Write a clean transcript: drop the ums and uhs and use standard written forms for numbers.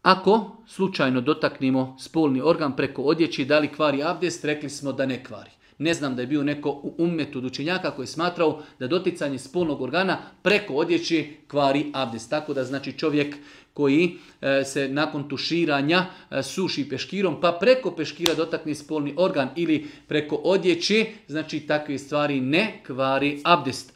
Ako slučajno dotaknemo spolni organ preko odjeći, da li kvari abdest, rekli smo da ne kvari. Ne znam da je bio neko u ummetu od učenjaka koji je smatrao da doticanje spolnog organa preko odjeći kvari abdest. Tako da znači čovjek koji se nakon tuširanja suši peškirom pa preko peškira dotakne spolni organ ili preko odjeći, znači takve stvari ne kvari abdest.